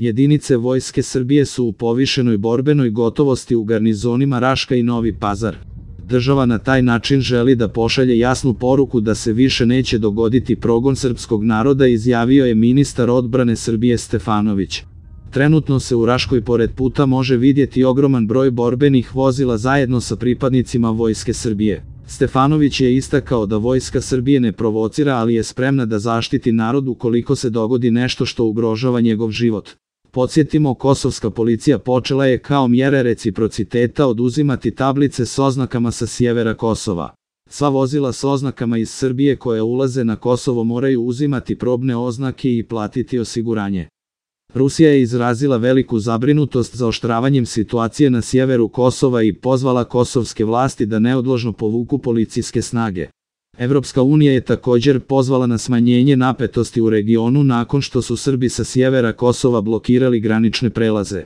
Jedinice Vojske Srbije su u povišenoj borbenoj gotovosti u garnizonima Raška i Novi Pazar. Država na taj način želi da pošalje jasnu poruku da se više neće dogoditi progon srpskog naroda, izjavio je ministar odbrane Srbije Stefanović. Trenutno se u Raškoj pored puta može vidjeti ogroman broj borbenih vozila zajedno sa pripadnicima Vojske Srbije. Stefanović je istakao da Vojska Srbije ne provocira, ali je spremna da zaštiti narod ukoliko se dogodi nešto što ugrožava njegov život. Podsjetimo, kosovska policija počela je kao mjere reciprociteta oduzimati tablice s oznakama sa sjevera Kosova. Sva vozila s oznakama iz Srbije koje ulaze na Kosovo moraju uzimati probne oznake i platiti osiguranje. Rusija je izrazila veliku zabrinutost zaoštravanjem situacije na sjeveru Kosova i pozvala kosovske vlasti da neodložno povuku policijske snage. Evropska unija je također pozvala na smanjenje napetosti u regionu nakon što su Srbi sa sjevera Kosova blokirali granične prelaze.